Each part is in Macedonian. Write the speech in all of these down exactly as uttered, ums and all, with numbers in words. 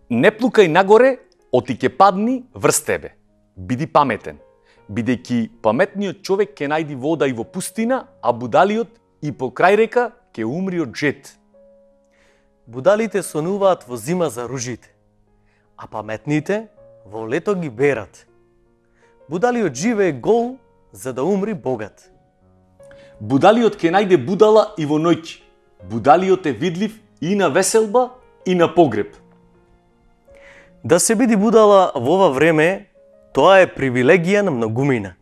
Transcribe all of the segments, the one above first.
Не плукај нагоре, оти ќе падни врз тебе. Биди паметен, бидејќи паметниот човек ќе најди вода и во пустина, а будалиот и покрај река ќе умри од жет. Будалите сонуваат во зима за ружите, а паметните во лето ги берат. Будалиот живее гол за да умри богат. Будалиот ќе најде будала и во ноќ. Будалиот е видлив и на веселба и на погреб. Да се биди будала во ова време, тоа е привилегија на многумина.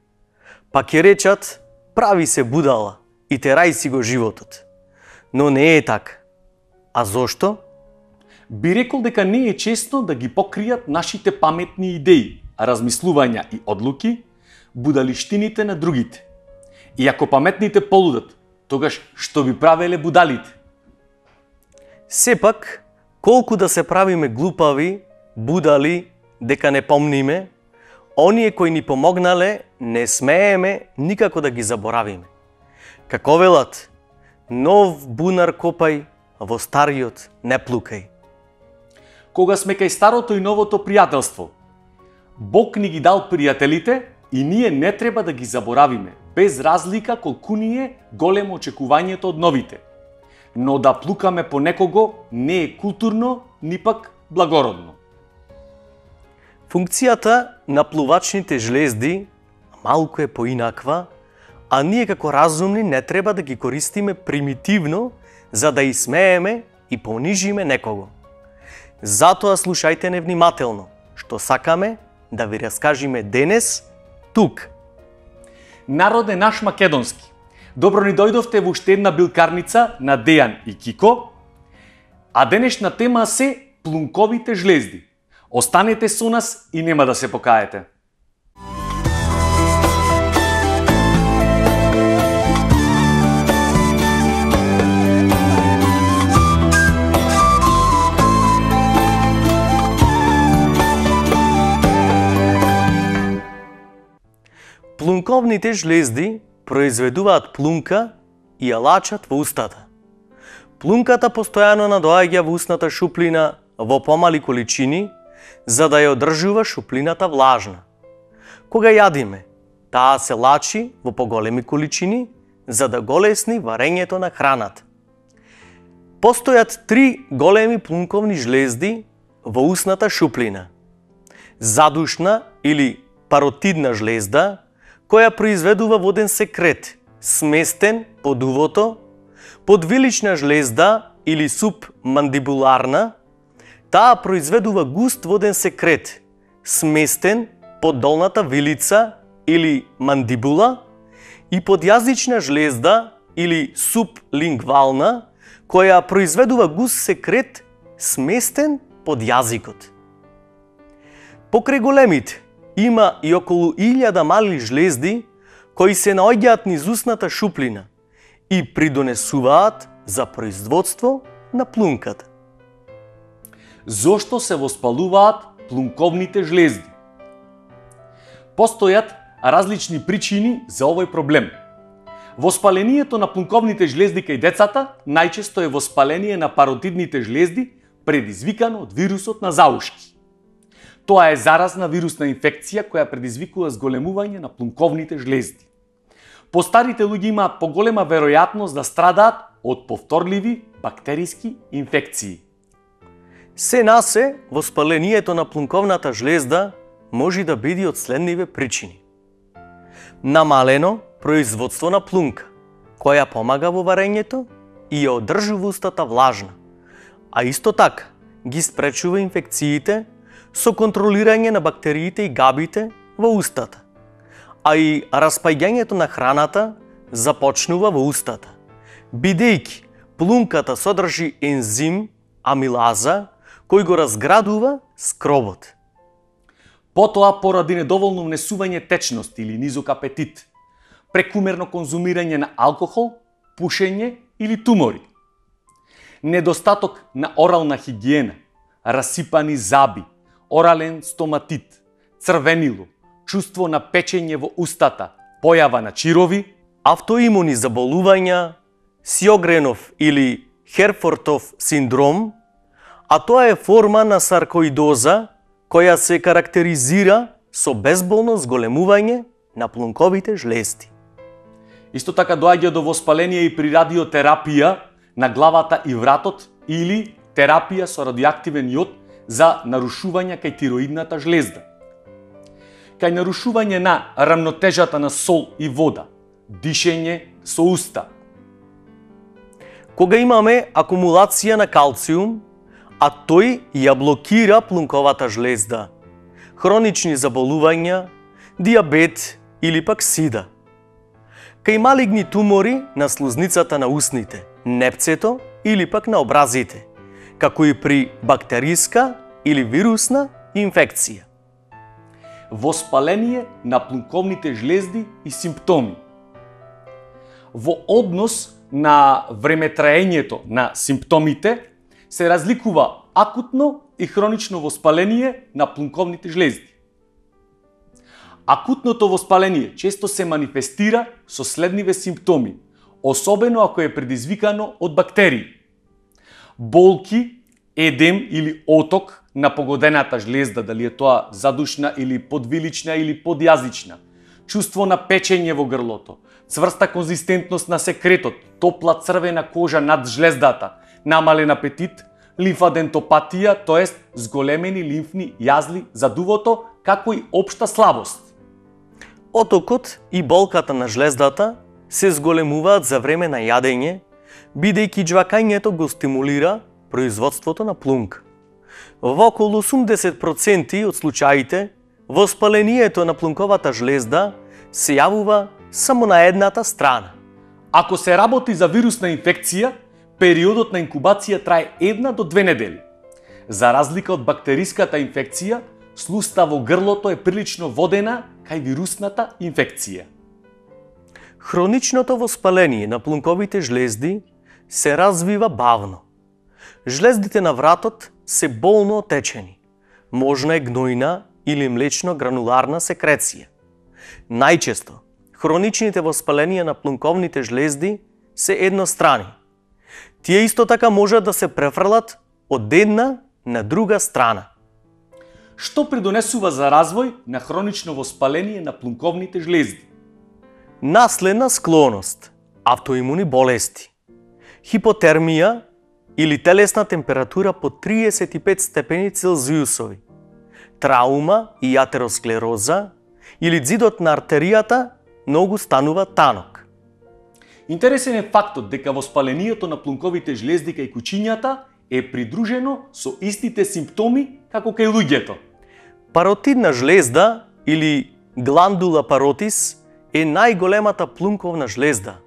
Па ќе речат, прави се будала и терај си го животот. Но не е така. А зошто? Би рекол дека не е честно да ги покријат нашите паметни идеи, размислувања и одлуки, будалиштините на другите. И ако паметните полудат, тогаш што би правеле будалите? Сепак, колку да се правиме глупави, будали, дека не помниме, оние кои ни помогнале, не смееме никако да ги заборавиме. Како велат, нов бунар копај, во стариот не плукај. Кога сме кај старото и новото пријателство, Бог ни ги дал пријателите и ние не треба да ги заборавиме, без разлика колку ни е големо очекувањето од новите. Но да плукаме по некого не е културно, ни пак благородно. Функцијата на плувачните жлезди малку е поинаква, а ние како разумни не треба да ги користиме примитивно за да исмееме и понижиме некого. Затоа слушајте не внимателно, што сакаме да ви раскажиме денес тук. Народе наш македонски, добро ни дојдовте во уште една билкарница на Дејан и Кико, а денешна тема се плунковите жлезди. Останете со нас и нема да се покаете. Плунковните жлезди произведуваат плунка и ја лачат во устата. Плунката постојано надоаѓа во устната шуплина во помали количини, за да ја одржува шуплината влажна. Кога јадиме, таа се лачи во поголеми количини, за да голесни варењето на храната. Постојат три големи плунковни жлезди во устната шуплина. Задушна или паротидна жлезда, која произведува воден секрет, сместен под увото, подвилична жлезда или субмандибуларна, таа произведува густ воден секрет, сместен под долната вилица или мандибула, и подјазична жлезда или сублингвална, која произведува густ секрет, сместен под јазикот. Покрај големите, има и околу илјада мали жлезди кои се наоѓаат низ устната шуплина и придонесуваат за производство на плунката. Зошто се воспалуваат плунковните жлезди? Постојат различни причини за овој проблем. Воспалението на плунковните жлезди кај децата најчесто е воспаление на паротидните жлезди предизвикано од вирусот на заушки. Тоа е заразна вирусна инфекција која предизвикува зголемување на плунковните жлезди. Постарите луѓе имаат поголема веројатност да страдаат од повторливи бактериски инфекции. Се насе, воспалението на плунковната жлезда може да биде од следниве причини. Намалено производство на плунка, која помага во варењето и ја одржува устата влажна, а исто така ги спречува инфекциите со контролирање на бактериите и габите во устата, а и распаѓањето на храната започнува во устата, бидејќи плунката содржи ензим амилаза кој го разградува скробот. Потоа, поради недоволно внесување течност или низок апетит, прекумерно конзумирање на алкохол, пушење или тумори, недостаток на орална хигиена, расипани заби, орален стоматит, црвенило, чувство на печење во устата, појава на чирови, автоимуни заболувања, Сјогренов или Херфортов синдром, а тоа е форма на саркоидоза која се карактеризира со безболно зголемување на плунковите жлезди. Исто така доаѓа до воспаление и при радиотерапија на главата и вратот или терапија со радиоактивен јод за нарушување кај тироидната жлезда. Кај нарушување на рамнотежата на сол и вода, дишење со уста. Кога имаме акумулација на калциум, а тој ја блокира плунковата жлезда, хронични заболувања, диабет или пак сида. Кај малигни тумори на слузницата на усните, непцето или пак на образите, како и при бактериска или вирусна инфекција. Воспаление на плунковните жлезди и симптоми. Во однос на времетраењето на симптомите се разликува акутно и хронично воспаление на плунковните жлезди. Акутното воспаление често се манифестира со следниве симптоми, особено ако е предизвикано од бактерии. Болки, едем или оток на погодената жлезда, дали е тоа задушна или подвилична или подјазична, чувство на печење во грлото, цврста конзистентност на секретот, топла црвена кожа над жлездата, намален апетит, лимфадентопатија, тоест зголемени лимфни јазли за дувото, како и општа слабост. Отокот и болката на жлездата се зголемуваат за време на јадење, бидејќи џвакањето го стимулира производството на плунка. Во околу осумдесет проценти од случаите, воспалението на плунковата жлезда се јавува само на едната страна. Ако се работи за вирусна инфекција, периодот на инкубација трае една до две недели. За разлика од бактериската инфекција, слуста во грлото е прилично водена кај вирусната инфекција. Хроничното воспаление на плунковите жлезди се развива бавно. Жлездите на вратот се болно отечени. Можна е гнојна или млечно-грануларна секреција. Најчесто, хроничните воспаленија на плунковните жлезди се еднострани. Тие исто така можат да се префрлат од една на друга страна. Што придонесува за развој на хронично воспаление на плунковните жлезди? Наследна склоност, автоимуни болести, хипотермија или телесна температура по триесет и пет степени Целзиусови, траума и атеросклероза или ѕидот на артеријата многу станува танок. Интересен е фактот дека воспалението на плунковите жлезди кај кучињата е придружено со истите симптоми како кај луѓето. Паротидна жлезда или гландула паротис е најголемата плунковна жлезда.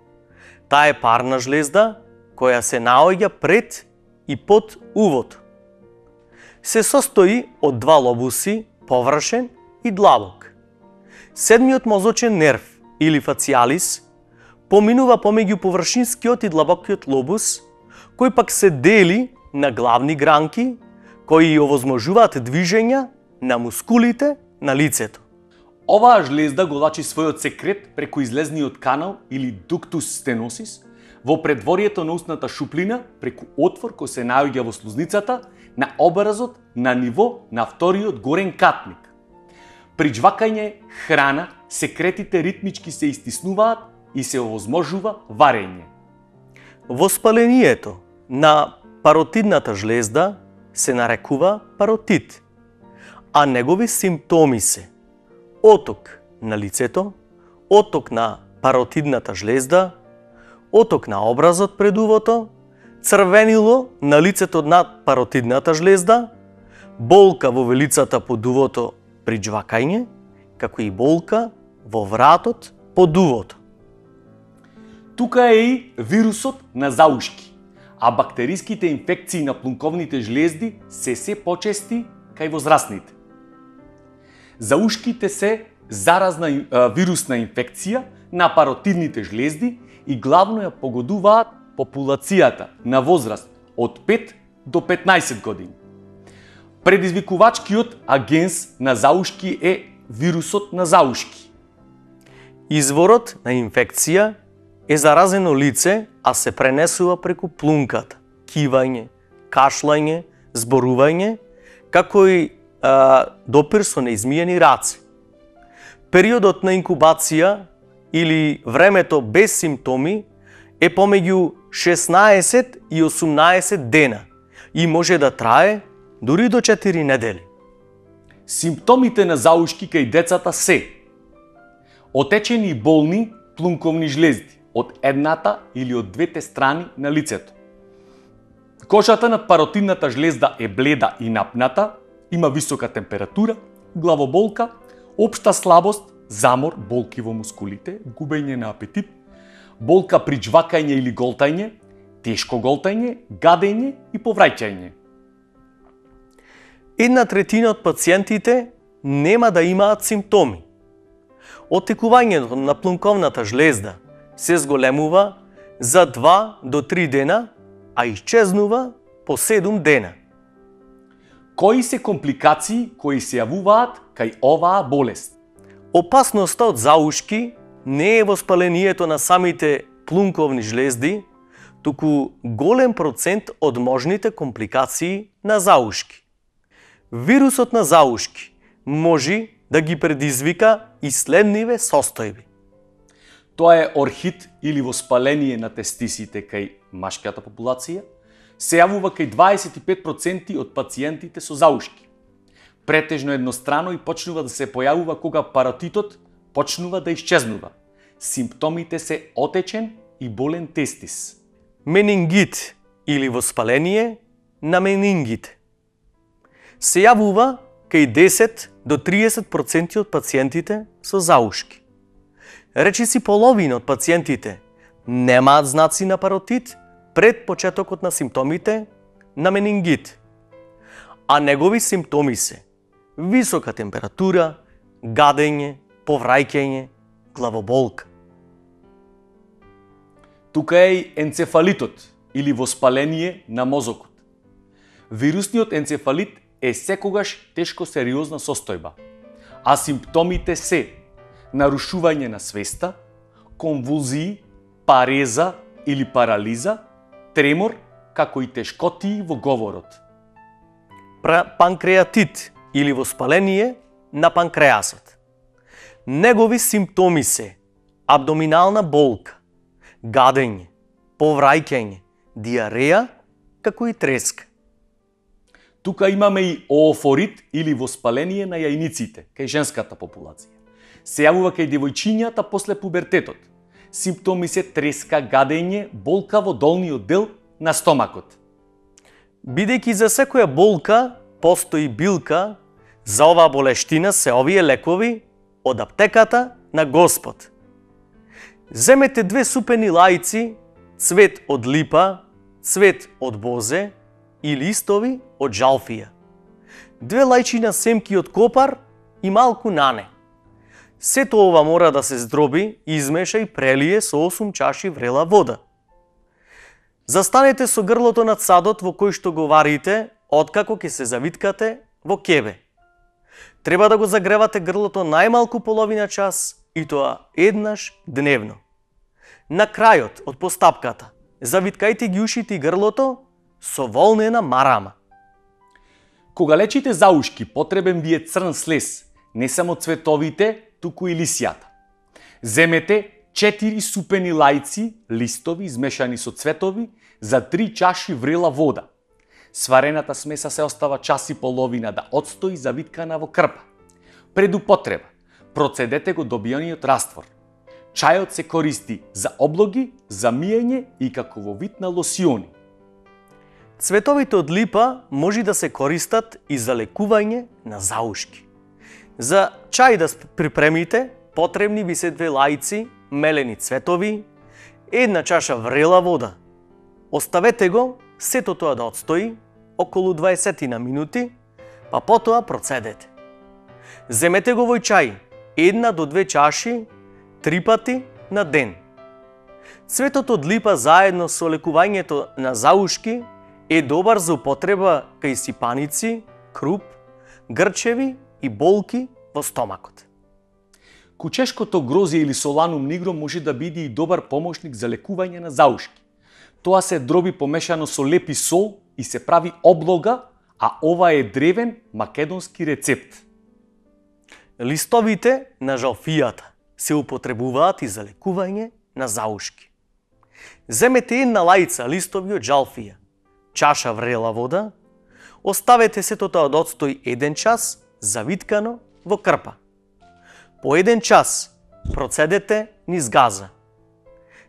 Таа е парна жлезда која се наоѓа пред и под увото. Се состои од два лобуси, површен и длабок. Седмиот мозочен нерв или фациалис поминува помеѓу површинскиот и длабокиот лобус, кој пак се дели на главни гранки кои овозможуваат движења на мускулите на лицето. Оваа жлезда го лачи својот секрет преку излезниот канал или дуктус стеносис во предворието на устната шуплина преку отвор кој се наоѓа во слузницата на образот на ниво на вториот горен катник. При џвакање храна секретите ритмички се истиснуваат и се овозможува варење. Воспалението на паротидната жлезда се нарекува паротит, а негови симптоми се оток на лицето, оток на паротидната жлезда, оток на образот пред увото, црвенило на лицето над паротидната жлезда, болка во велицата под увото при џвакање, како и болка во вратот под увото. Тука е и вирусот на заушки, а бактериските инфекции на плунковните жлезди се се почести кај возрастните. Заушките се заразна вирусна инфекција на паротидните жлезди и главно ја погодуваат популацијата на возраст од пет до петнаесет години. Предизвикувачкиот агенс на заушки е вирусот на заушки. Изворот на инфекција е заразено лице, а се пренесува преку плунката, кивање, кашлање, зборување, како и а, допир со неизмиени раце. Периодот на инкубација или времето без симптоми е помеѓу шеснаесет и осумнаесет дена и може да трае дури до четири недели. Симптомите на заушки кај децата се отечени и болни плунковни жлезди од едната или од двете страни на лицето. Кожата над паротидната жлезда е бледа и напната, има висока температура, главоболка, општа слабост, замор, болки во мускулите, губење на апетит, болка при джвакање или голтање, тешко голтање, гадење и повраќање. Една третина од пациентите нема да имаат симптоми. Оттекувањето на плунковната жлезда се зголемува за два до три дена, а исчезнува по седум дена. Кои се компликации кои се јавуваат кај оваа болест? Опасноста од заушки не е воспалението на самите плунковни жлезди, туку голем процент од можните компликации на заушки. Вирусот на заушки може да ги предизвика и следниве состојби. Тоа е орхит или воспаление на тестисите кај машката популација, се јавува кај дваесет и пет проценти од пациентите со заушки. Претежно еднострано и почнува да се појавува кога паротитот почнува да исчезнува. Симптомите се отечен и болен тестис. Менингит или воспаление на менингите се јавува кај десет до триесет проценти од пациентите со заушки. Речиси половина од пациентите немаат знаци на паротит пред почетокот на симптомите на менингит, а негови симптоми се висока температура, гадење, повраќање, главоболка. Тука е и енцефалитот или воспаление на мозокот. Вирусниот енцефалит е секогаш тешко сериозна состојба, а симптомите се нарушување на свеста, конвулзии, пареза или парализа, тремор, како и тешкотии во говорот. Панкреатит или воспаление на панкреасот. Негови симптоми се абдоминална болка, гадење, повраќање, диареја, како и треска. Тука имаме и оофорит или воспаление на јајниците, кај женската популација. Се јавува кај девојчињата после пубертетот. Симптоми се треска, гадење, болка во долниот дел на стомакот. Бидејќи за секоја болка постои билка, за оваа болештина се овие лекови од аптеката на Господ. Земете две супени лајци, цвет од липа, цвет од бозе и листови од жалфија. Две лајчина семки од копар и малку нане. Сето ова мора да се здроби, измеша и прелие со осум чаши врела вода. Застанете со грлото над садот во кој што го варите, откако ќе се завиткате во кебе. Треба да го загревате грлото најмалку половина час и тоа еднаш дневно. На крајот од постапката, завиткајте ги ушите и грлото со волнена марама. Кога лечите заушки, потребен ви е црн слез, не само цветовите, туку и лисјата. Земете четири супени лајци, листови измешани со цветови, за три чаши врела вода. Сварената смеса се остава час и половина да отстои завиткана во крпа. Пред употреба, процедете го добиениот раствор. Чајот се користи за облоги, за миење и како во вид на лосиони. Цветовите од липа може да се користат и за лекување на заушки. За чај да припремите, потребни ви се две лајци, мелени цветови, една чаша врела вода. Оставете го сето тоа да отстои околу дваесет на минути, па потоа процедете. Земете го во чај, една до две чаши, три пати на ден. Цветот од липа заедно со лекувањето на заушки е добар за употреба кај сипаници, круп, грчеви и болки во стомакот. Кучешкото грозје или соланум нигро може да биде и добар помошник за лекување на заушки. Тоа се дроби помешано со леп и сол и се прави облога, а ова е древен македонски рецепт. Листовите на жалфијата се употребуваат и за лекување на заушки. Земете една лајца листови од жалфија, чаша врела вода, оставете сето тоа да одстои еден час завиткано во крпа. По еден час процедете низ газа.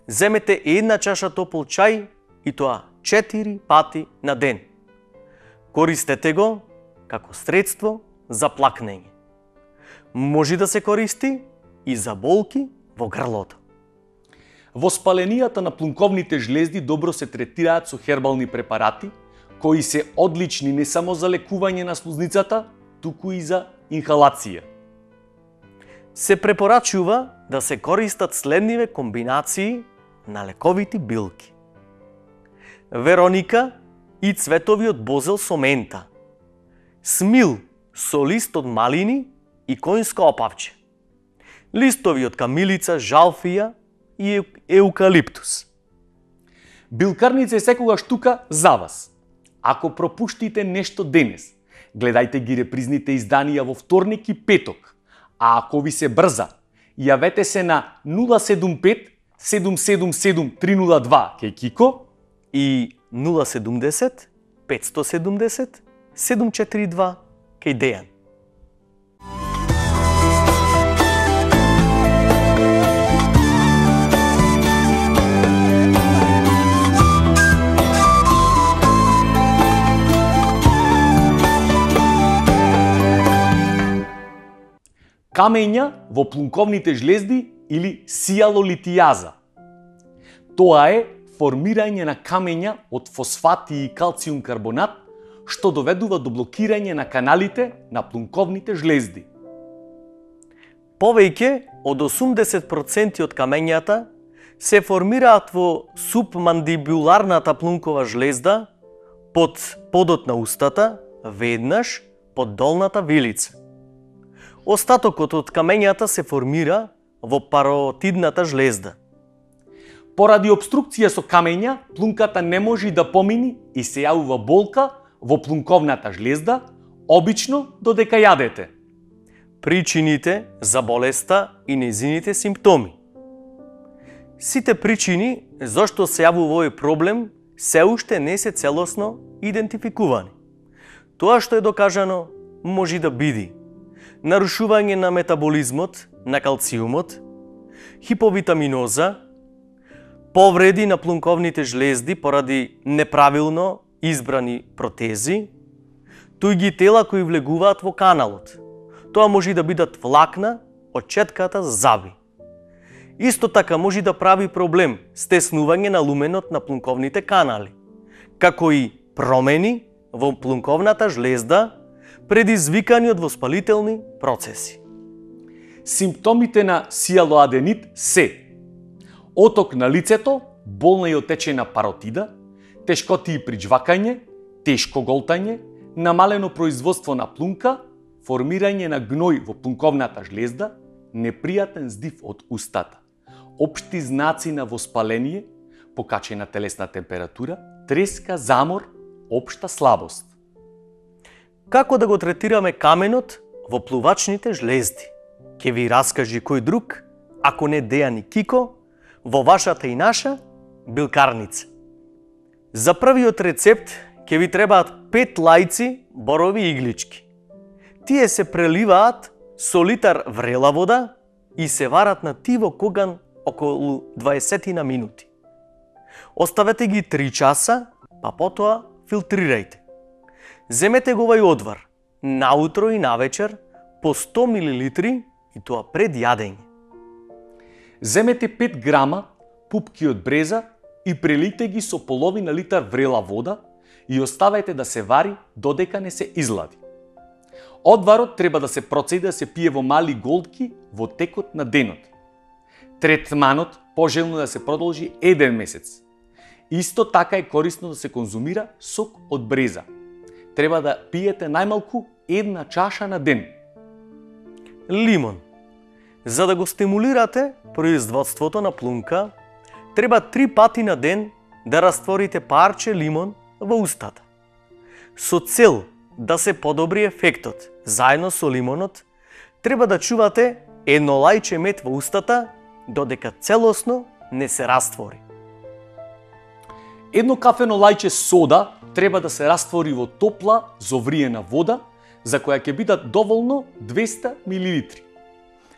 Земете една чаша топол чај и тоа четири пати на ден. Користете го како средство за плакнење. Може да се користи и за болки во грлото. Воспаленијата на плунковните жлезди добро се третираат со хербални препарати, кои се одлични не само за лекување на слузницата, туку и за инхалација. Се препорачува да се користат следниве комбинации на лековити билки: Вероника и цветовиот бозел со мента, смил со лист од малини и коњско опавче, листови од камилица, жалфија и еукалиптус. Билкарница е секогаш тука за вас. Ако пропуштите нешто денес, гледајте ги репризните изданија во вторник и петок, а ако ви се брза, јавете се на нула седум пет седум седум седум три нула два кај Кико и нула седумдесет петстотини и седумдесет седум четири два кај Дејан. Камења во плунковните жлезди или сијалолитијаза. Тоа е формирање на камења од фосфати и калциум карбонат, што доведува до блокирање на каналите на плунковните жлезди. Повеќе од осумдесет проценти од камењата се формираат во субмандибуларната плункова жлезда, под подот на устата, веднаш под долната вилица. Остатокот од камењата се формира во паротидната жлезда. Поради обструкција со камења, плунката не може да помини и се јавува болка во плунковната жлезда, обично додека јадете. Причините за болеста и нејзините симптоми. Сите причини зашто се јавува овој проблем се уште не се целосно идентификувани. Тоа што е докажано може да биде нарушување на метаболизмот на калциумот, хиповитаминоза, повреди на плунковните жлезди поради неправилно избрани протези, туѓи тела кои влегуваат во каналот. Тоа може да бидат влакна од четката заби. Исто така може да прави проблем стеснување на луменот на плунковните канали, како и промени во плунковната жлезда предизвикани од воспалителни процеси. Симптомите на сијалоаденит се оток на лицето, болна и отечена паротида, тешкотии при жвакање, тешко голтање, намалено производство на плунка, формирање на гној во плунковната жлезда, непријатен здив од устата, општи знаци на воспаление, покачена телесна температура, треска, замор, општа слабост. Како да го третираме каменот во плувачните жлезди? Ке ви раскажи кој друг, ако не Дејан и Кико, во вашата и наша билкарница. За првиот рецепт ке ви требаат пет лајци борови иглички. Тие се преливаат со литар врела вода и се варат на тиво коган околу дваесет минути. Оставете ги три часа, па потоа филтрирајте. Земете го овај одвар наутро и навечер по сто милилитри и тоа пред јадење. Земете пет грама пупки од бреза и прелите ги со половина литар врела вода и оставете да се вари додека не се излади. Одварот треба да се процеди да се пие во мали голтки во текот на денот. Третманот пожелно да се продолжи еден месец. Исто така е корисно да се конзумира сок од бреза. Треба да пиете најмалку една чаша на ден. Лимон. За да го стимулирате производството на плунка, треба три пати на ден да растворите парче лимон во устата. Со цел да се подобри ефектот, заедно со лимонот, треба да чувате едно лајче мед во устата додека целосно не се раствори. Едно кафено лајче сода треба да се раствори во топла, зовриена вода, за која ќе бидат доволно двеста милилитри.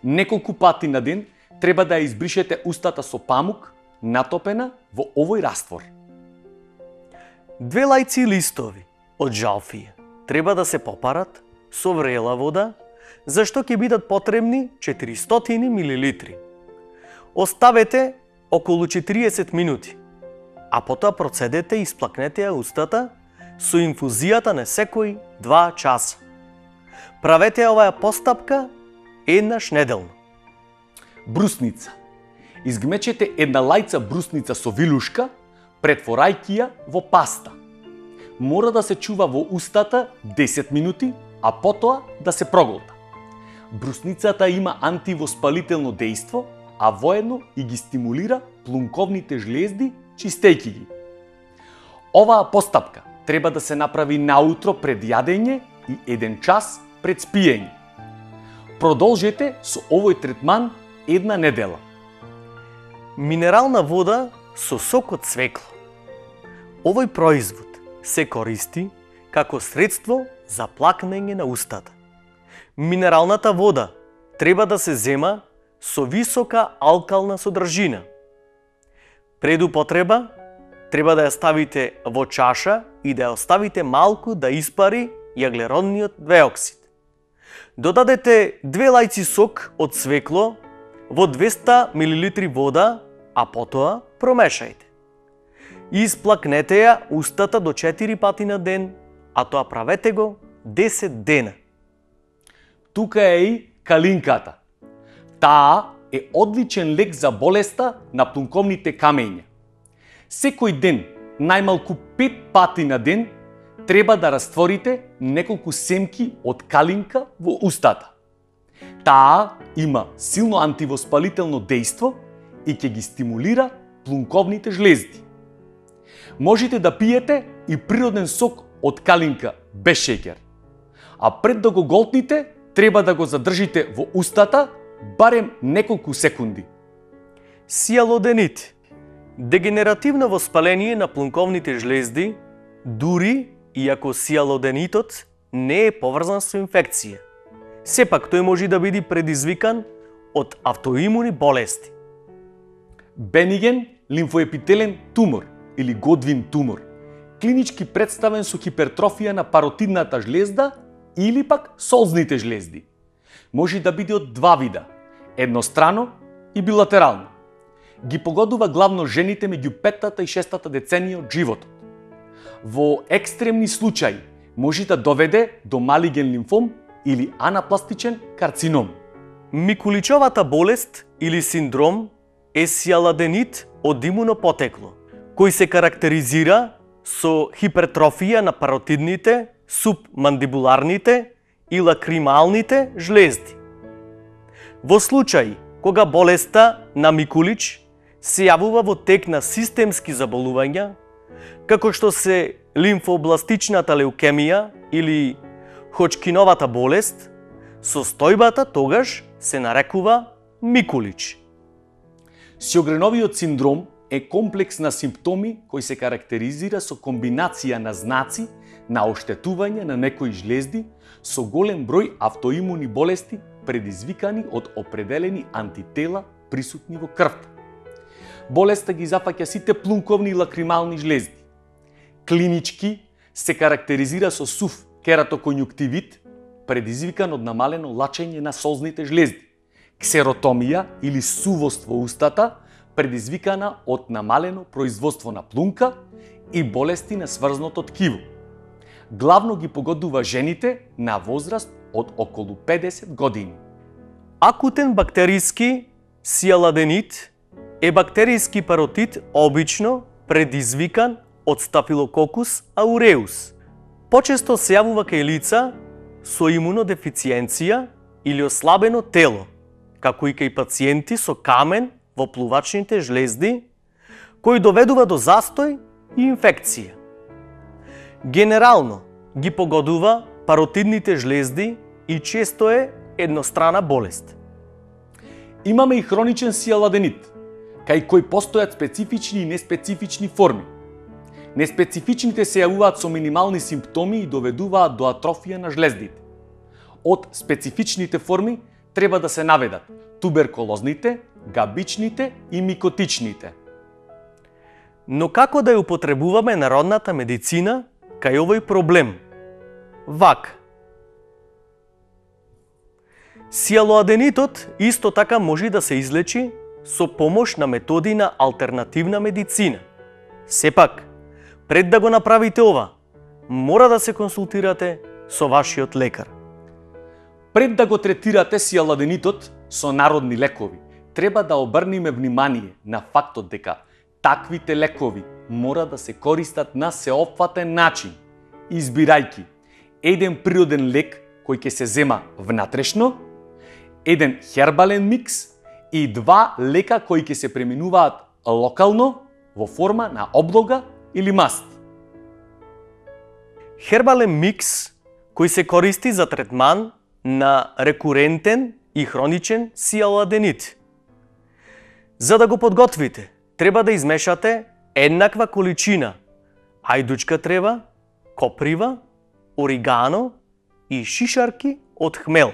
Неколку пати на ден треба да ја избришете устата со памук, натопена во овој раствор. Две лајци листови од жалфија треба да се попарат со врела вода, зашто ќе бидат потребни четиристотини милилитри. Оставете околу четириесет минути, а потоа процедете и сплакнете ја устата со инфузијата на секој два часа. Правете оваа постапка еднаш неделно. Брусница. Изгмечете една лајца брусница со вилушка, претворајќи ја во паста. Мора да се чува во устата десет минути, а потоа да се проголта. Брусницата има антивоспалително дејство, а воедно и ги стимулира плунковните жлезди, чистејќи ги. Оваа постапка треба да се направи наутро пред јадење и еден час пред спиење. Продолжете со овој третман една недела. Минерална вода со сок од цвекло. Овој производ се користи како средство за плакнење на устата. Минералната вода треба да се зема со висока алкална содржина. Пред употреба треба да ја ставите во чаша и да ја оставите малку да испари јаглеродниот двеоксид. Додадете две лајци сок од цвекло во двеста милилитри вода, а потоа промешајте. Исплакнете ја устата до четири пати на ден, а тоа правете го десет дена. Тука е и калинката. Таа е одличен лек за болеста на плунковните камења. Секој ден, најмалку пет пати на ден, треба да растворите неколку семки од калинка во устата. Таа има силно антивоспалително дејство и ќе ги стимулира плунковните жлезди. Можете да пиете и природен сок од калинка без шеќер. А пред да го голтните, треба да го задржите во устата барем неколку секунди. Сиалоденит. Дегенеративно воспаление на плунковните жлезди, дури и ако сиалоденитот не е поврзан со инфекција. Сепак тој може да биде предизвикан од автоимуни болести. Бениген лимфоепителен тумор или Годвин тумор, клинички представен со хипертрофија на паротидната жлезда или пак солзните жлезди. Може да биде од два вида, еднострано и билатерално. Ги погодува главно жените меѓу петтата и шестата деценија од животот. Во екстремни случаи може да доведе до малиген лимфом или анапластичен карцином. Микуличовата болест или синдром е сиалоденит од имуно потекло, кој се карактеризира со хипертрофија на паротидните, субмандибуларните и лакрималните жлезди. Во случај кога болеста на Микулич се јавува во тек на системски заболувања, како што се лимфобластичната леукемија или Ходжкиновата болест, состојбата тогаш се нарекува Микулич. Сјогреновиот синдром е комплекс на симптоми кој се карактеризира со комбинација на знаци на оштетување на некои жлезди со голем број автоимуни болести предизвикани од определени антитела присутни во крвта. Болеста ги зафаќа сите плунковни и лакримални жлезди. Клинички се карактеризира со сув кератоконјуктивит, предизвикан од намалено лачење на солзните жлезди, ксеротомија или сувост во устата, предизвикана од намалено производство на плунка и болести на сврзното ткиво. Главно ги погодува жените на возраст од околу педесет години. Акутен бактериски сиалоденит е бактериски паротит обично предизвикан од Staphylococcus aureus. Почесто се јавува кај лица со имунодефициенција или ослабено тело, како и кај пациенти со камен во плувачните жлезди, кој доведува до застој и инфекција. Генерално ги погодува паротидните жлезди и често е еднострана болест. Имаме и хроничен сијаладенит, кај кој постојат специфични и неспецифични форми. Неспецифичните се јавуваат со минимални симптоми и доведуваат до атрофија на жлездите. Од специфичните форми треба да се наведат туберкулозните, габичните и микотичните. Но како да ја употребуваме народната медицина кај овој проблем? Вака. Сијалоаденитот исто така може да се излечи со помош на методи на алтернативна медицина. Сепак, пред да го направите ова, мора да се консултирате со вашиот лекар. Пред да го третирате сијаладенитот со народни лекови, треба да обрнеме внимание на фактот дека таквите лекови мора да се користат на сеопфатен начин, избирајќи еден природен лек кој ќе се зема внатрешно, еден хербален микс и два лека кои ќе се преминуваат локално во форма на облога или маст. Хербален микс кој се користи за третман на рекурентен и хроничен сијаладенит. За да го подготвите, треба да измешате еднаква количина ајдучка трева, коприва, оригано и шишарки од хмел.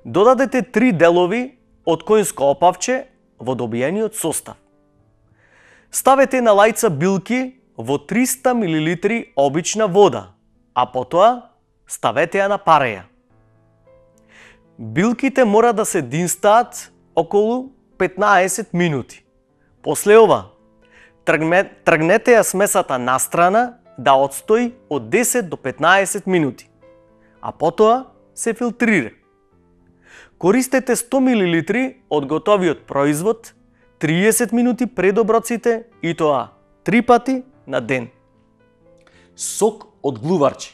Додадете три делови од коњско опавче во добиениот состав. Ставете на лајца билки во триста милилитри обична вода, а потоа ставете ја на пареја. Билките мора да се динстаат околу петнаесет минути. После ова, тргнете ја смесата настрана да отстои од десет до петнаесет минути, а потоа се филтрира. Користете сто милилитри од готовиот производ триесет минути пред оброците и тоа три пати на ден. Сок од глуварче.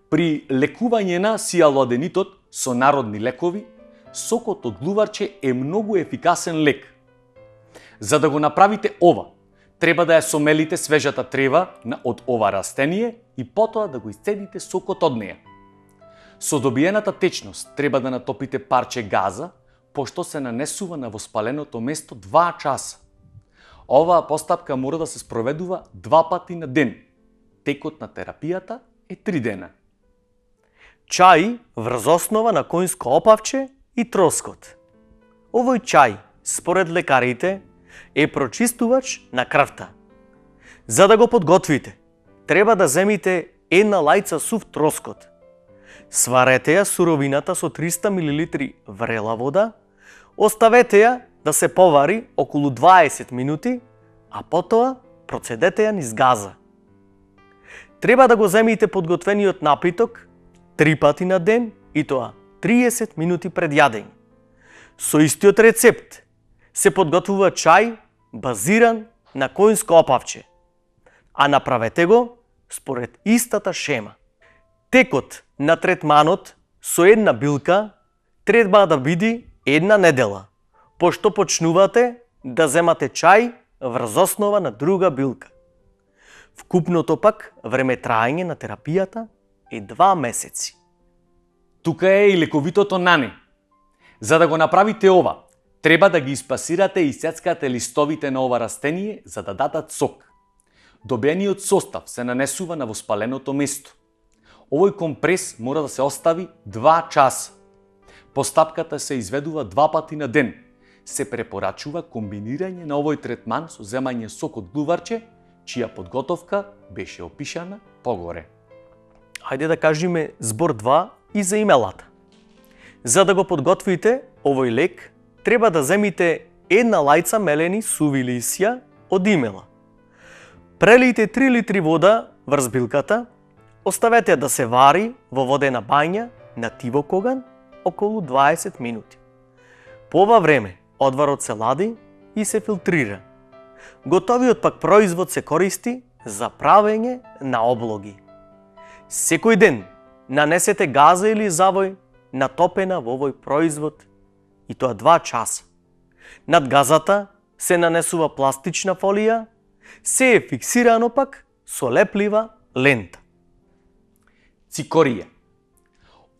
При лекување на сијалоаденитот со народни лекови, сокот од глуварче е многу ефикасен лек. За да го направите ова, треба да ја сомелите свежата трева од ова растение и потоа да го исцедите сокот од неја. Со добиената течност треба да натопите парче газа, пошто се нанесува на воспаленото место два часа. Оваа постапка мора да се спроведува два пати на ден. Текот на терапијата е три дена. Чај врз основа на коњско опавче и троскот. Овој чај, според лекарите, е прочистувач на крвта. За да го подготвите, треба да земите една лајца сув троскот. Сварете ја суровината со триста милилитри врела вода, оставете ја да се повари околу дваесет минути, а потоа процедете ја низ газа. Треба да го земите подготвениот напиток три пати на ден и тоа триесет минути пред јадење. Со истиот рецепт се подготвува чај базиран на коњско опавче, а направете го според истата шема. Текот на третманот со една билка треба да биде една недела, пошто почнувате да земате чај врз основа на друга билка. Вкупното пак време траење на терапијата е два месеци. Тука е и лековитото нане. За да го направите ова, треба да ги испасирате и сецкате листовите на ова растение за да дадат сок. Добиениот состав се нанесува на воспаленото место. Овој компрес мора да се остави два часа. Постапката се изведува два пати на ден. Се препорачува комбинирање на овој третман со земање сок од глуварче, чија подготовка беше опишана погоре. Хајде да кажеме збор два и за имелата. За да го подготвите овој лек, треба да земите една лајца мелени суви лисја од имела. Прелијте три литри вода врз билката, оставете да се вари во водена бања на тивок оган околу дваесет минути. По ова време одварот се лади и се филтрира. Готовиот пак производ се користи за правење на облоги. Секој ден нанесете газа или завој натопена во овој производ и тоа два часа. Над газата се нанесува пластична фолија, се е фиксирано пак со леплива лента. цикорија.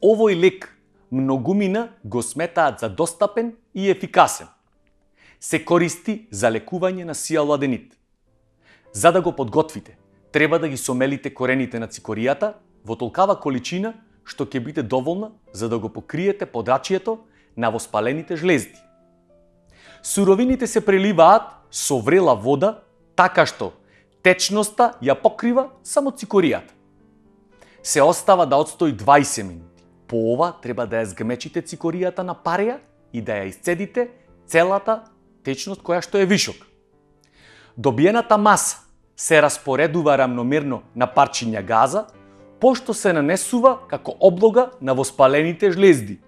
Овој лек многумина го сметаат за достапен и ефикасен. Се користи за лекување на сиалуаденит. За да го подготвите, треба да ги сомелите корените на цикоријата во толкава количина што ќе биде доволна за да го покриете подрачјето на воспалените жлезди. Суровините се преливаат со врела вода, така што течноста ја покрива само цикоријата. Се остава да отстои дваесет минути. По ова треба да ја згмечите цикоријата на пареја и да ја исцедите целата течност која што е вишок. Добиената маса се распоредува рамномерно на парчиња газа, пошто се нанесува како облога на воспалените жлезди.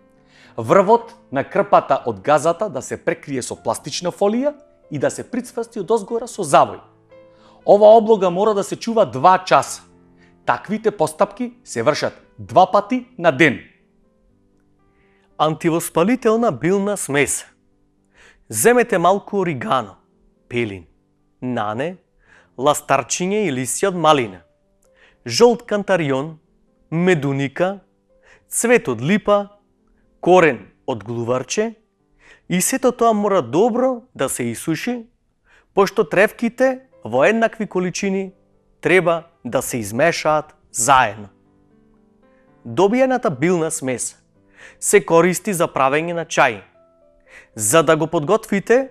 Врвот на крпата од газата да се прекрие со пластична фолија и да се прицврсти од озгора со завој. Ова облога мора да се чува два часа. Таквите постапки се вршат два пати на ден. Антивоспалителна билна смеса. Земете малку оригано, пелин, нане, ластарчиње и лисја од малина, жолт кантарион, медуника, цвет од липа, корен од глуварче и сето тоа мора добро да се исуши, пошто тревките во еднакви количини треба да се измешаат заедно. Добиената билна смеса се користи за правење на чај. За да го подготвите,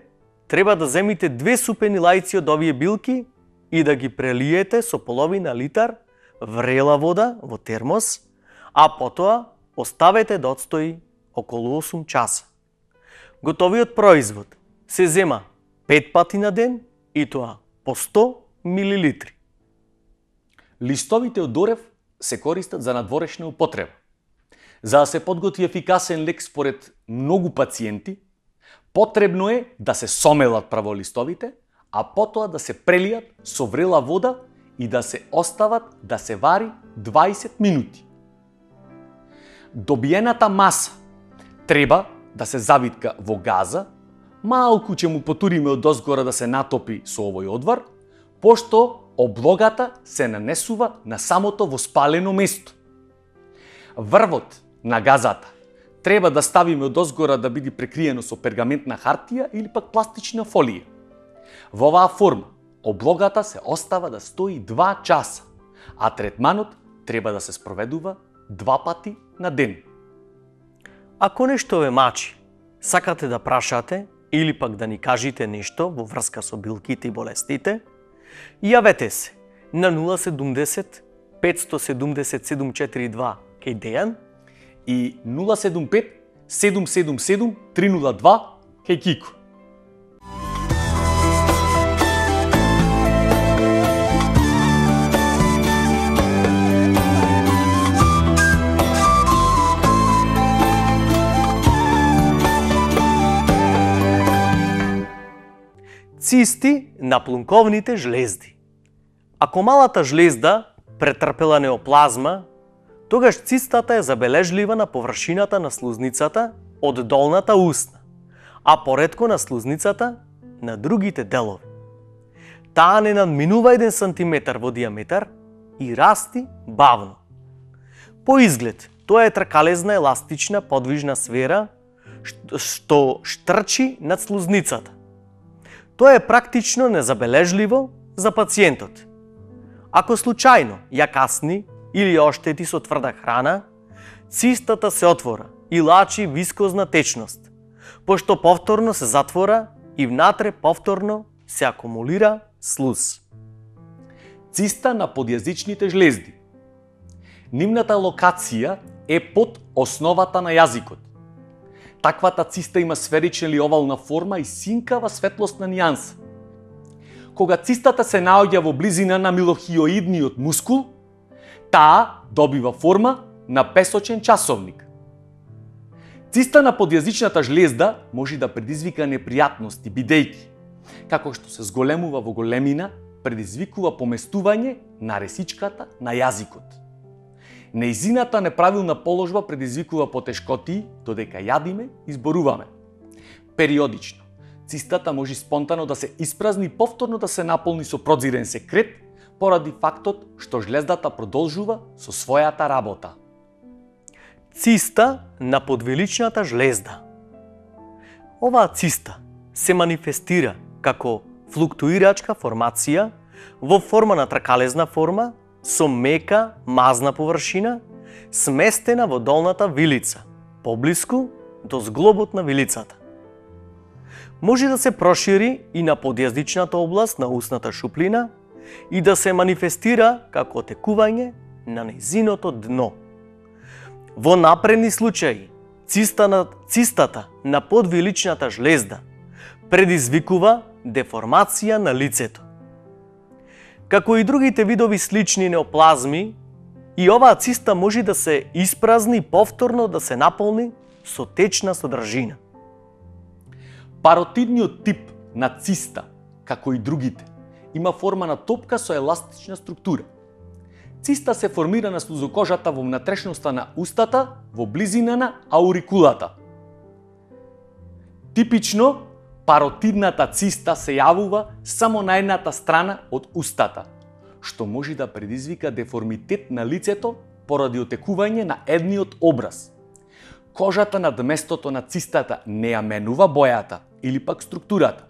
треба да земите две супени лајци од овие билки и да ги прелиете со половина литар врела вода во термос, а потоа оставете да отстои околу осум часа. Готовиот производ се зема пет пати на ден и тоа по сто милилитри. Листовите од орев се користат за надворешна употреба. За да се подготви ефикасен лек според многу пациенти, потребно е да се сомелат право листовите, а потоа да се прелијат со врела вода и да се остават да се вари дваесет минути. Добиената маса треба да се завитка во газа, малку ќе му потуриме од озгора да се натопи со овој одвар, пошто облогата се нанесува на самото воспалено место. Врвот на газата треба да ставиме од озгора да биде прекриено со пергаментна хартија или пак пластична фолија. Во оваа форма, облогата се остава да стои два часа, а третманот треба да се спроведува два пати на ден. Ако нешто ве мачи, сакате да прашате или пак да ни кажете нешто во врска со билките и болестите, јавете се на нула седумдесет петстотини и седумдесет седум четири и два кај Дејан и нула седум пет седум седум седум три нула два кај Кико. Цисти на плунковните жлезди. Ако малата жлезда претрпела неоплазма, тогаш цистата е забележлива на површината на слузницата од долната усна, а поретко на слузницата на другите делови. Таа не надминува еден сантиметар во диаметар и расти бавно. По изглед, тоа е тркалезна еластична подвижна сфера што штрчи над слузницата. Тоа е практично незабележливо за пациентот. Ако случајно ја касни или ја оштети со тврда храна, цистата се отвора и лачи вискозна течност, пошто повторно се затвора и внатре повторно се акумулира слуз. Циста на подјазичните жлезди. Нивната локација е под основата на јазикот. Таквата циста има сферична или овална форма и синкава светлосна нијанса. Кога цистата се наоѓа во близина на милохиоидниот мускул, таа добива форма на песочен часовник. Циста на подјазичната жлезда може да предизвика непријатности, бидејќи, како што се зголемува во големина, предизвикува поместување на ресичката на јазикот. Неизината неправилна положба предизвикува потешкотии додека јадиме и зборуваме. Периодично, цистата може спонтано да се испразни и повторно да се наполни со продзирен секрет, поради фактот што жлездата продолжува со својата работа. Циста на подвиличната жлезда. Оваа циста се манифестира како флуктуирачка формација во форма на тракалезна форма со мека мазна површина сместена во долната вилица, поблиску до зглобот на вилицата. Може да се прошири и на подјазничната област на устната шуплина и да се манифестира како отекување на нејзиното дно. Во напредни случаи, циста на, цистата на подвиличната жлезда предизвикува деформација на лицето. Како и другите видови слични неоплазми, и оваа циста може да се испразни и повторно да се наполни со течна содржина. Паротидниот тип на циста, како и другите, има форма на топка со еластична структура. Циста се формира на слузокожата во внатрешноста на устата, во близина на аурикулата. Типично, паротидната циста се јавува само на едната страна од устата, што може да предизвика деформитет на лицето поради отекување на едниот образ. Кожата над местото на цистата не ја менува бојата или пак структурата.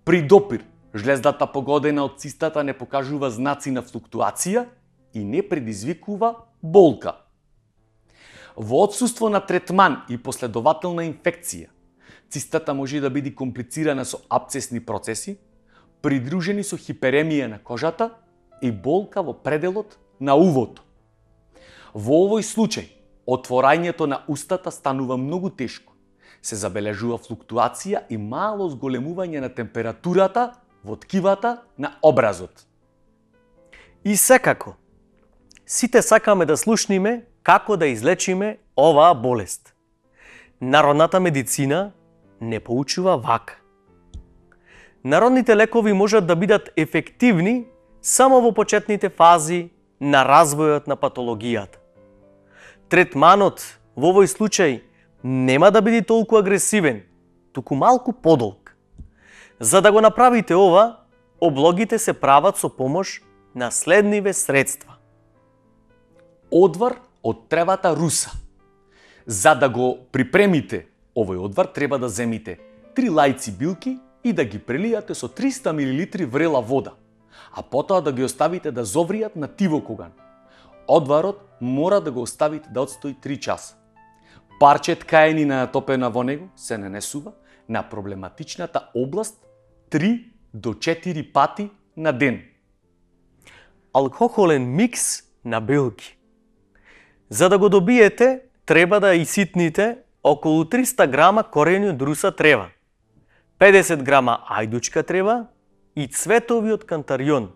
При допир, жлездата погодена од цистата не покажува знаци на флуктуација и не предизвикува болка. Во отсуство на третман и последователна инфекција, цистата може да биде комплицирана со апцесни процеси, придружени со хиперемија на кожата и болка во пределот на увото. Во овој случај, отворањето на устата станува многу тешко. Се забележува флуктуација и мало зголемување на температурата во ткивата на образот. И секако, сите сакаме да слушниме како да излечиме оваа болест. Народната медицина не поучува вака. Народните лекови можат да бидат ефективни само во почетните фази на развојот на патологијата. Третманот во овој случај нема да биде толку агресивен, туку малку подолг. За да го направите ова, облогите се прават со помош на следниве средства. Одвар од тревата руса. За да го припремите овој одвар, треба да земите три лајци билки и да ги прелијате со триста милилитри врела вода, а потоа да ги оставите да зовријат на тивок оган. Одварот мора да го оставите да отстои три часа. Парче ткаенина натопена во него се нанесува на проблематичната област три до четири пати на ден. Алкохолен микс на билки. За да го добиете, треба да иситните околу триста грама корени од руса трева, педесет грама ајдучка трева и цветови од кантарион,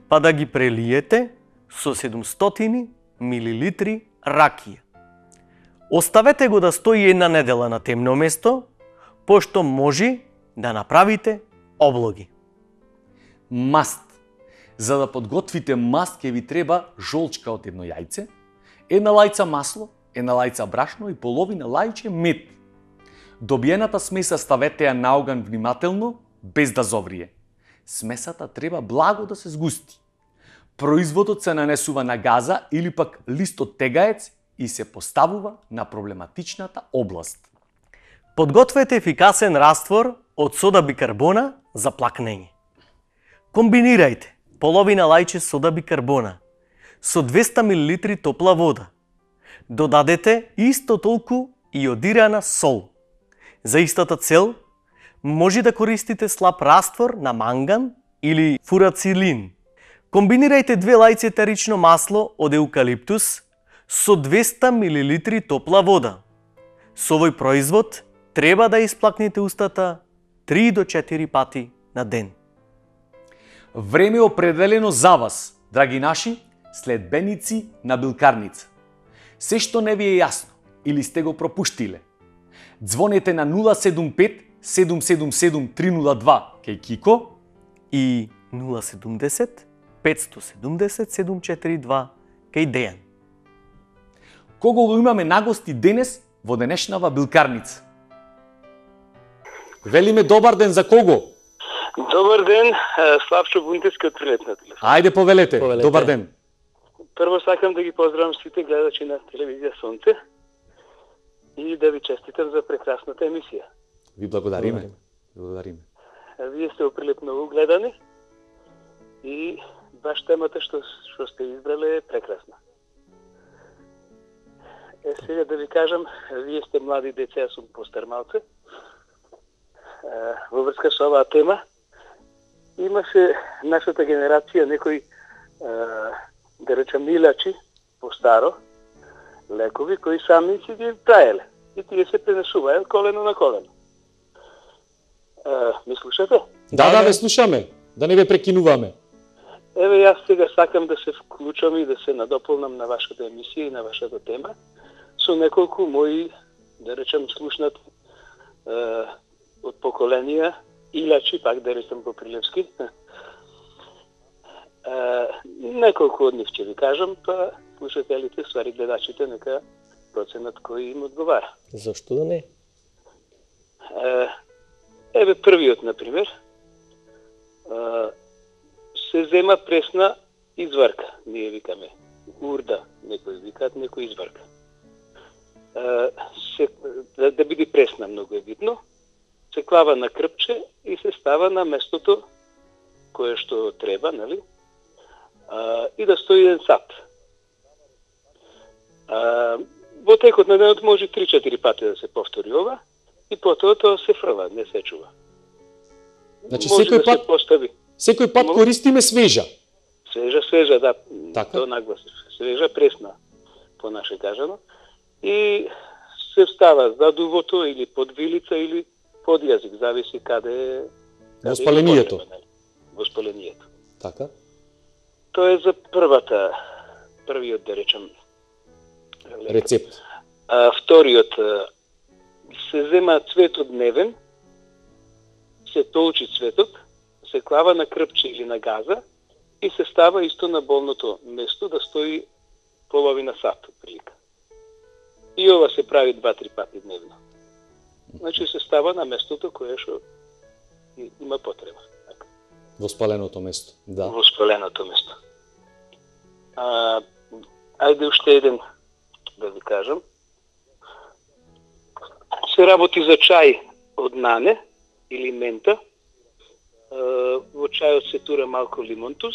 па да ги прелиете со седумстотини милилитри ракија. Оставете го да стои една недела на темно место, пошто може да направите облоги. Маст. За да подготвите маст ќе ви треба жолчка од едно јајце, една лајца масло, една лајца брашно и половина лајче мед. Добиената смеса ставете ја на оган внимателно, без да зоврие. Смесата треба благо да се згусти. Производот се нанесува на газа или пак лист од тегаец и се поставува на проблематичната област. Подгответе ефикасен раствор од сода бикарбона за плакнење. Комбинирајте половина лајче сода бикарбона со двеста милилитри топла вода. Додадете исто толку иодирана сол. За истата цел може да користите слаб раствор на манган или фурацилин. Комбинирајте две лајци етерично масло од еукалиптус со двеста милилитри топла вода. Со овој производ треба да исплакнете устата три до четири пати на ден. Време определено за вас, драги наши следбеници на билкарница. Се што не ви е јасно или сте го пропуштиле, ѕвонете на нула седум пет седум седум седум три нула два кај Кико и нула седумдесет петстотини и седумдесет седум четири два кај Дејан. Кого го имаме нагости денес во денешнава билкарница? Велиме добар ден, за кого? Добар ден, Славчо Бунтевски од Прилепна телефон. Ајде повелете. Повелете. Добар ден. Прво сакам да ги поздравам сите гледачи на телевизија Сонце и да ви честитам за прекрасната емисија. Ви благодариме. Благодариме. Вие сте оприлепно гледани и баш темата што што сте избрале е прекрасна. Е, сега да ви кажам, вие сте млади деца, јас сум постар малце. Во врска со оваа тема, имаше нашата генерација некои, да речем, милачи по-старо, лекови, кои сами си ги правеле. И тие се пренесуваат колено на колено. Ми слушате? Да, да, ве слушаме. Да не ве прекинуваме. Еве, јас сега сакам да се вклучам и да се надополнам на вашата емисија и на вашата тема со неколку мои, да речем, слушнати е, од поколенија, илачи, пак да речем по прилепски. Е, неколку од нив ќе ви кажам, па слушателите, ствари гледачите, нека проценат кој им одговара. Зашто да не? Е, еве првиот, например, е, се зема пресна изварка, ние викаме урда, некои викаат, некои изварка. Е, се, да, да биде пресна, многу е битно, се клава на крпче и се става на местото кое што треба, нели? А, и да стои еден сат. А, во текот на денот може три-четири пати да се повтори ова и потоа тоа се фрла, не се чува. Значи може секој да пат се постави. секој пат Мол- користиме свежа. Свежа, свежа, да. Така. Тоа наглас. Свежа, пресна, по наше кажано. И се встава за дувото или под вилица или под јазик, зависи каде е. Во спалението. Во спалението. Така. Тоа е за првата, првиот, да речем, лек. Рецепт. А, вториот, а, се зема цветот дневен, се толчи цветот, се клава на крпче или на газа и се става исто на болното место да стои половина сат прилика. И ова се прави два-три пати дневно. Значи се става на местото кое што има потреба. Така. Во спаленото место. Да. Во спаленото место. А, ајде уште еден да ви кажам. Се работи за чај од нане или мента. А, во чајот се тура малку лимонтус,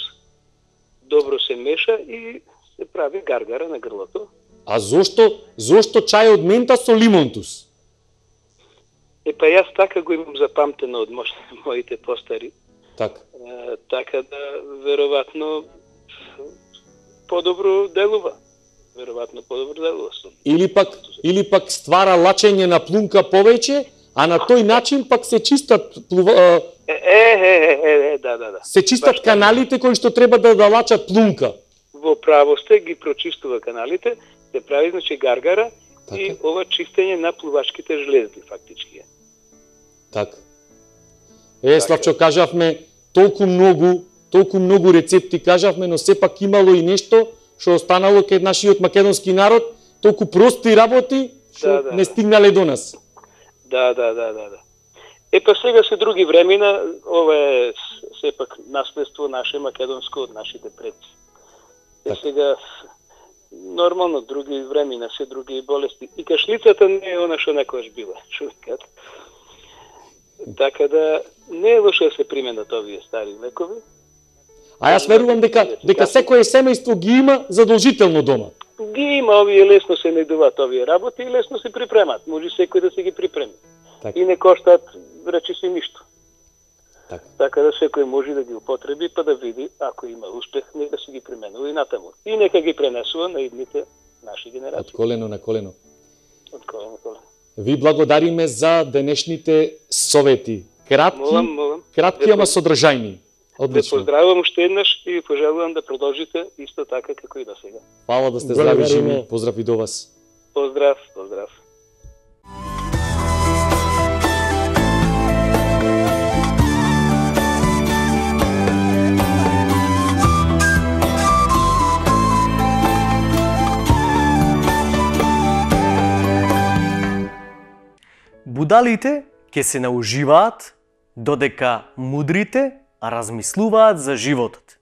добро се меша и се прави гаргара на грлото. А зошто зошто чај од мента со лимонтус? Е, па јас така го имам запамтено од мо- моите постари. Така. Е, така да, веројатно, подобро делува. Веројатно подобро делува. со- Или пак или пак ствара лачење на плунка повеќе, а на тој начин пак се чистат плува, а, Е, е, е, е, е, да, да, да. се чистат Баш така. каналите кои што треба да да лачат плунка. Во право сте, ги прочистува каналите, се прави, значи, гаргара Така. и ова чистење на плувачките жлезди, фактички е. Така. Е, Славчо, кажавме толку многу, толку многу рецепти кажавме, но сепак имало и нешто што останало кај нашиот македонски народ, толку прости работи што Да, да, не да. стигнале до нас. Да, да, да, да, да. Е, па сега се други времена, ова е с- сепак наследство наше македонско од нашите предци. Е, Така. сега, нормално, други времена, се други болести. И кашлицата не е она што некојаш била, човекот. Така да, не е лошо да се применат овие стари лекови. А јас верувам дека дека секое семејство ги има задолжително дома. Ги има овие, лесно се најдуваат овие работи и лесно се припремат. Може секој да се ги припреми. Така. И не коштаат, речи си, ништо. Така. Така да секој може да ги употреби, па да види, ако има успех, нека се ги применува и натаму. И нека ги пренесува на идните наши Од генерации. колено на колено. Од колено на колено. Ви благодариме за денешните совети. Кратки, Молам, молам. кратки Ве ама поз- содржајни. Ве Одлично. поздравувам уште еднаш и ви пожелувам да продолжите исто така како и до сега. Фала да сте здрави Благодариме. живи. Поздрав и до вас. Поздрав, поздрав. Будалите ќе се науживаат додека мудрите размислуваат за животот.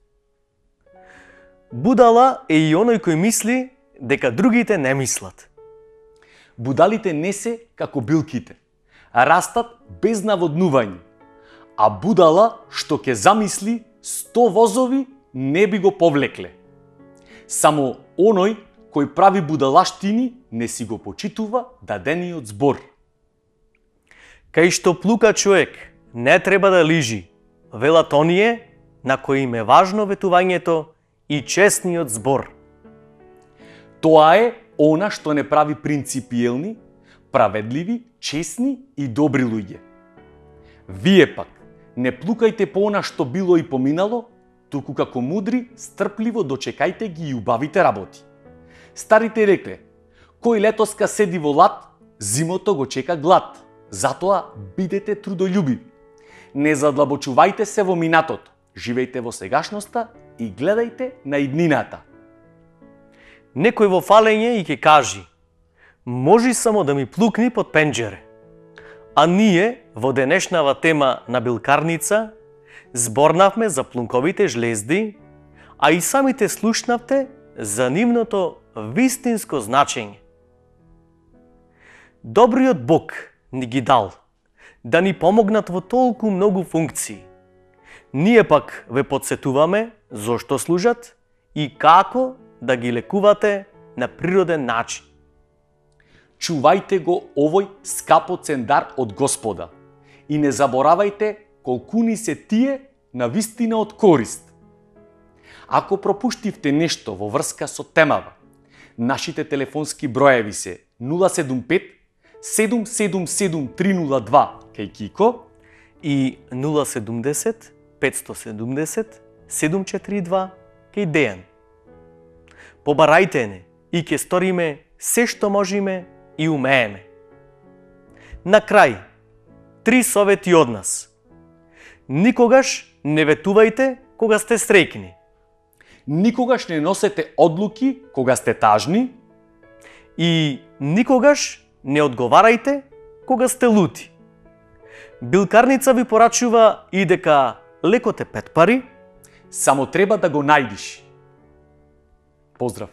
Будала е и оној кој мисли дека другите не мислат. Будалите не се како билките, растат без наводнување, а будала што ќе замисли сто возови не би го повлекле. Само оној кој прави будалаштини не си го почитува дадениот збор. Кај што плука човек не треба да лижи, велат оние на кои им е важно ветувањето и честниот збор. Тоа е она што не прави принципиелни, праведливи, честни и добри луѓе. Вие пак не плукајте по она што било и поминало, туку како мудри, стрпливо дочекајте ги и убавите работи. Старите рекле: кој летоска седи во лад, зимото го чека глад. Затоа бидете трудолюбиви. Не задлабочувајте се во минатото, живејте во сегашноста и гледајте на иднината. Некој во фалење и ќе кажи: можи само да ми плукни под пенџере. А ние во денешнава тема на билкарница зборнавме за плунковите жлезди, а и самите слушнавте за нивното вистинско значење. Добриот Бог ни ги дал да ни помогнат во толку многу функции. Ние пак ве подсетуваме зошто служат и како да ги лекувате на природен начин. Чувајте го овој скапоцен дар од Господа и не заборавајте колкуни се тие на вистина од корист. Ако пропуштивте нешто во врска со темава, нашите телефонски броеви се нула седум пет седум седум седум три нула два кај Кико и нула седумдесет петстотини и седумдесет седум четири два кај Дејан. Побарајте не и ќе сториме се што можеме и умееме. На крај, три совети од нас. Никогаш не ветувајте кога сте среќни. Никогаш не носете одлуки кога сте тажни. И никогаш не одговарајте кога сте лути. Билкарница ви порачува и дека лекот е пет пари, само треба да го најдиш. Поздрав!